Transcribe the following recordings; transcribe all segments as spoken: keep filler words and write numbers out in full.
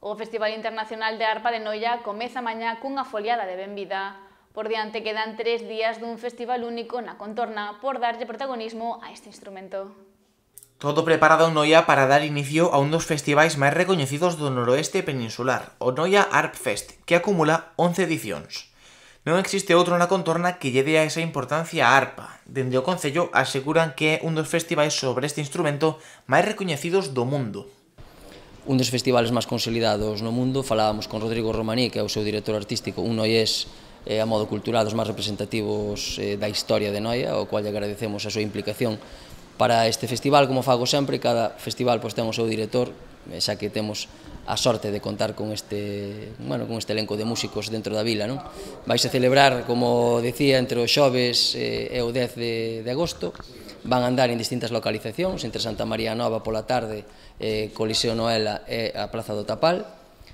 O Festival Internacional de Arpa de Noia comeza mañá cunha foliada de benvida. Por diante quedan tres días dun festival único na contorna por darlle protagonismo a este instrumento. Todo preparado en Noia para dar inicio a un dos festivais máis recoñecidos do noroeste peninsular, o Noia Arp Fest, que acumula once edicións. Non existe outro na contorna que lle dea esa importancia á arpa. Dende o Concello aseguran que é un dos festivais sobre este instrumento máis recoñecidos do mundo. Un dos festivales máis consolidados no mundo, falábamos con Rodrigo Romaní, que é o seu director artístico, un noiés eh, a modo cultural dos máis representativos eh, da historia de Noia, ao cual lle agradecemos a súa implicación para este festival. Como fago sempre, cada festival pois, ten o seu director, xa que temos a sorte de contar con este, bueno, con este elenco de músicos dentro da vila, non? Vais a celebrar, como decía, entre os xoves e o dez de, de agosto, van a andar en distintas localizacións, entre Santa María Nova pola tarde, eh, Coliseo Noela e a Praza do Tapal.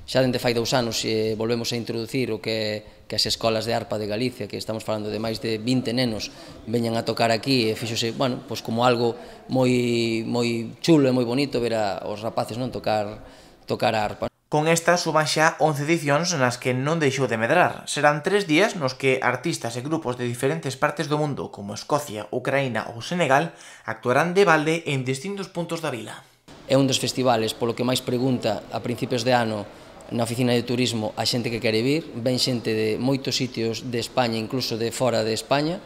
Xa dende fai dous anos eh, volvemos a introducir o que, que as escolas de arpa de Galicia, que estamos falando de máis de vinte nenos, veñan a tocar aquí e fíxose, bueno, pois como algo moi, moi chulo e moi bonito ver a, os rapaces non tocar, tocar a arpa. Con esta suban xa once edicións nas que non deixou de medrar. Serán tres días nos que artistas e grupos de diferentes partes do mundo, como Escocia, Ucraína ou Senegal, actuarán de balde en distintos puntos da vila. É un dos festivales polo que máis pregunta a principios de ano na oficina de turismo a xente que quere vir. Ven xente de moitos sitios de España, incluso de fora de España,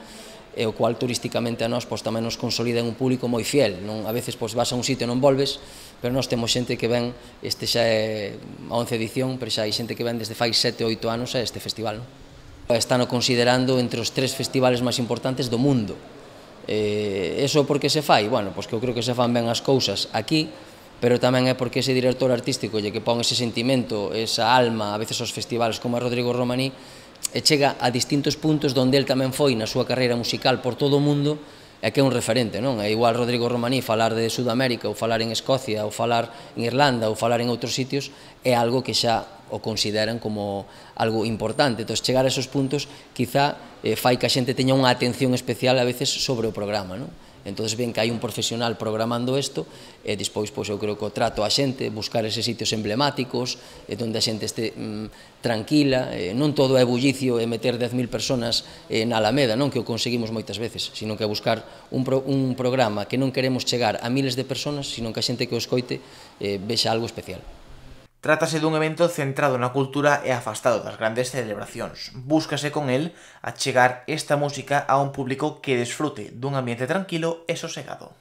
e o cual turísticamente a nós pois, tamén nos consolida en un público moi fiel. Non? A veces pois, vas a un sitio e non volves, pero nós temos xente que ven, este xa é a once edición, pero xa hai xente que ven desde fai sete ou oito anos a este festival. Non? Están considerando entre os tres festivales máis importantes do mundo. Eh, eso por que se fai? Bueno, pois que eu creo que se fan ben as cousas aquí, pero tamén é porque ese director artístico lle que pon ese sentimento, esa alma, a veces aos festivales como a Rodrigo Romaní, e chega a distintos puntos onde el tamén foi na súa carreira musical por todo o mundo e que é un referente, non? É igual Rodrigo Romaní falar de Sudamérica ou falar en Escocia ou falar en Irlanda ou falar en outros sitios é algo que xa o consideran como algo importante. Entón, chegar a esos puntos quizá eh, fai que a xente teña unha atención especial a veces sobre o programa, non? Entón, ven que hai un profesional programando isto e despois, pois, eu creo que o trato a xente, buscar eses sitios emblemáticos, onde a xente este mm, tranquila, eh, non todo é bullicio e meter dez mil personas eh, na Alameda, non que o conseguimos moitas veces, sino que buscar un, pro, un programa que non queremos chegar a miles de personas, sino que a xente que o escoite eh, vexa algo especial. Trátase dun evento centrado na cultura e afastado das grandes celebracións. Búscase con el achegar esta música a un público que desfrute dun ambiente tranquilo e sosegado.